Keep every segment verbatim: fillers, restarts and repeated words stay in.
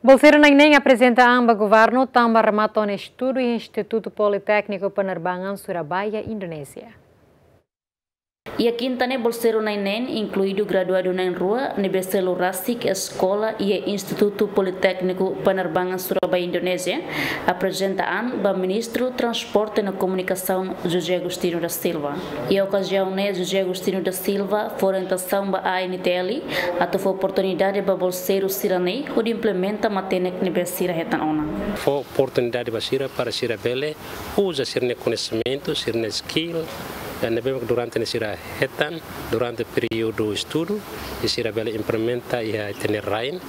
Bolseiru na'in-neen aprezenta an ba governu tanba remata ona estudu iha Institutu Politékniku Penerbangan Surabaya, Indonézia. Iha kinta ne'e bolseiru na'in-neen, inkluidu graduadu na'in-rua, ne'ebé selu rasik eskola iha Institutu Politékniku Penerbangan Surabaya, Indonézia, aprezenta an ba Ministru Transporte no Komunikasaun, José Agostinho da Silva. Iha okaziaun ne'e, José Agostinho da Silva fó orientasaun ba A N T L atu fó oportunidade ba bolseiru sira-ne'e hodi implementa matenek ne'ebé sira hetan ona. Fó oportunidade ba sira para sira bele uza sira-nia koñesimentu, sira-nia skill, eh, ne'ebé durante ne'e sira hetan durante períodu estudu, i sira bele implementa iha ita-nia rain,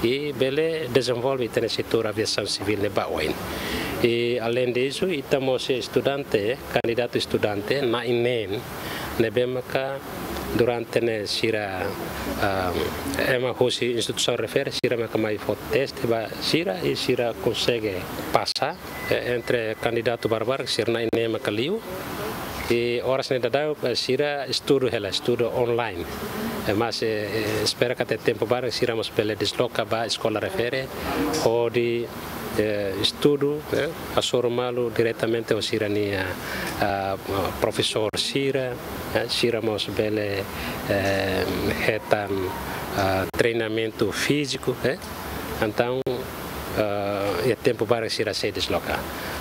i bele dezenvolve ita-nia setór aviasaun sivíl ne'e ba oin. I além disso, ita mós estudante, kandidatu estudante na'in-neen, ne'ebé maka durante ne'e sira, ah, ema husi instituisaun refere, sira maka mai fó teste ba sira, i sira konsege pasa, eh, entre kandidatu barak-barak, sira na'in-neen maka liu. I oras ne'e daudaun, eh, sira estudu hela, estudu online. Eh, mas, eh, eh, espera katak tempu badak sira mós bele desloka ba eskola refere, hodi, eh, estudu, eh, hasoru malu diretamente ho sira-nia, ah, profesór sira, eh, sira mós bele, eh, hetan, ah, treinamentu fíziku, eh. Entaun, eh, iha tempu badak sira sei desloka.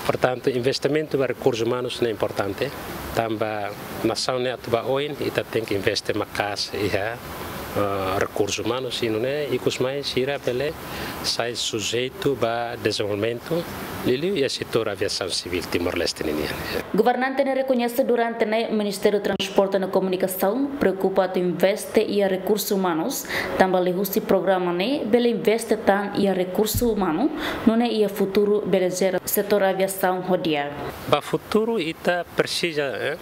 Portantu, investimentu ba rekursus umanus ne'e importante, tanba nasaun ne'e atu ba oin, ita tenke investe maka'as iha, eh, rekursus umanus, i nune'e ikus mai sira bele sai sujeitu ba dezenvolvimentu, liuliu iha setór aviasaun sivíl Timor-Leste ninian. Governante ne'e rekoñese durante ne'e Ministériu Transporte no Komunikasaun preokupa atu investe iha rekursus umanus, tanba liuhusi programa ne'e bele investe tan iha rekursu umanu, nune'e iha futuru bele jere setór aviasaun ho di'ak. Ba futuru ita presiza, eh,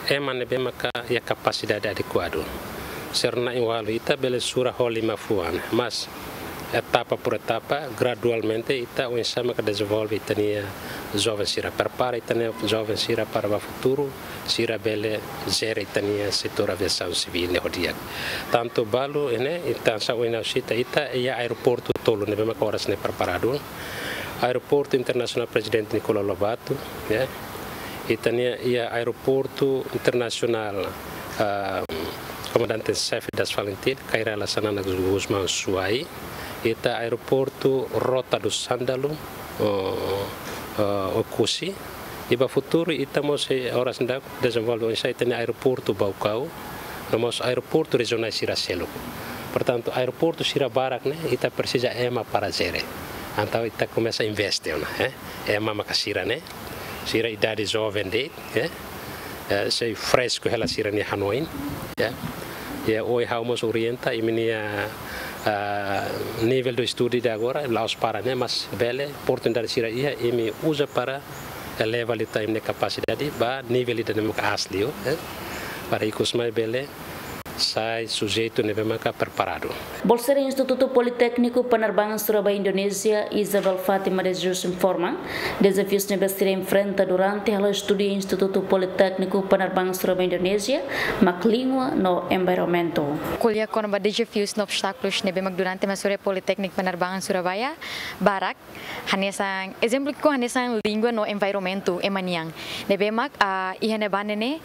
ema ne'ebé maka iha kapasidade adekuadu. Sira na'in-ualu ita bele sura ho lima fuan, mas etapa por etapa, gradualmente, ita oinsá maka dezenvolve ita-nia joven sira, prepara ita-nia joven sira para ba futuru, sira bele jere ita-nia setór aviasaun sivíl ne'e ho di'ak. Tantu balu ne'e, ita hanesan ohin ha'u sita, ita iha aeroportu tolu ne'ebé maka oras ne'e preparadu. Aeroportu Internasionál Prezidente Nicolau Lobato, ya. Ita-nia iha Aeroportu Internasionál, ah, Comandante Chefe das FALINTIL, Kay Rala Xanana Gusmão Suai. Ita Aeroportu Rota do Sândalo, o, o, Oekusi. I ba futuru, ita mós, eh, oras ne'e daudaun dezenvolve oinsá ita-nia aeroportu Baucau, no mós aeroportu rejionál sira seluk. Portantu, aeroportu sira barak ne'e, ita presiza ema para jere. Entaun, ita komesa investe ona, eh. Ema maka sira ne'e, sira idade joven de'it, eh. Eh, sei fresku hela sira-nia hanoin, ya. Ya, ohin ha'u mós orienta, imi-nia, ah, nivel de estudu de agora, la'ós para ne'e, mas bele, oportunidade sira iha, imi uza para eleva liután imi-nia kapasidade ba nivel ida ne'ebé maka aas liu, eh, para ikus mai bele sai sujeitu ne'ebé maka preparadu. Bolseira Institutu Politékniku Penerbangan Surabaya, Indonézia, Isabel Fátima de Jesus informa, dezafius ne'ebé sira enfrenta durante halo estudu iha Institutu Politékniku Penerbangan Surabaya, Indonézia, mak língua no environmentu. Ko'alia kona-ba dezafius no obstákulus ne'ebé mak durante ema estuda iha Politékniku Penerbangan Surabaya, barak, hanesan, ezemplu ki'ik hanesan língua no environmentu ema nian. Ne'ebé mak, ah, iha ne'ebá ne'e,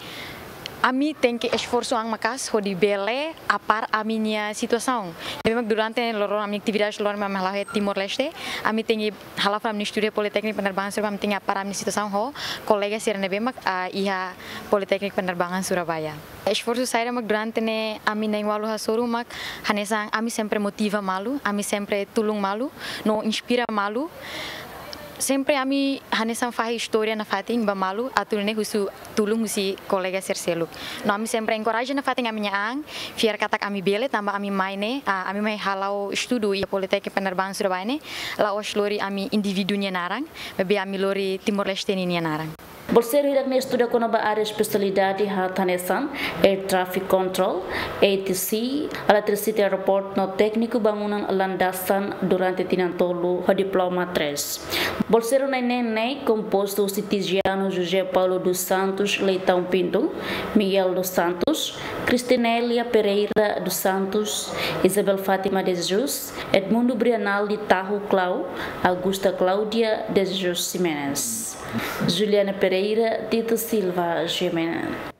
ami tenke esforsu an maka'as hodi bele apara ami-nia situasaun. Ne'ebé mak durante loron ami atividade loron ami hala'o iha Timor-Leste, ami tenke hala'o fali ami estuda iha Politékniku Penerbangan Surabaya, ami tenke apara ami-nia situasaun ho kolega sira ne'ebé mak, ah, iha Politékniku Penerbangan Surabaya. Esforsu saida mak durante ne'e ami na'in-ualu hasoru mak hanesan ami sempre motiva malu, ami sempre tulun malu, no inspira malu. Sempre ami hanesan fahe istória nafatin ba malu atu nune'e husu tulun husi kolega sira seluk. No ami sempre enkoraja nafatin ami-nia an, fiar katak ami bele tanba ami mai ne'e, ah, ami mai hala'o estudu iha Politékniku Penerbangan Surabaya ne'e, la'ós lori ami indivíduu nia naran, maibé ami lori Timor-Leste ninia naran. Bolseiru hirak-ne'e estuda kona-ba área espesialidade hanesan Air Traffic Control, A T C, Electricity Report no tékniku bangunan landasan durante tinan tolu ho diploma três. Bolseiru na'in-neen ne'e kompostu husi Tiziano José Paulo dos Santos Leitão Pinto, Miguel dos Santos, Cristinélia Pereira dos Santos, Isabel Fátima de Jesus, Edmundo Brianal de Tahu Clau, Augusta Cláudia de Jesus Ximenes, Juliana Pereira, Tito Silva Ximenes.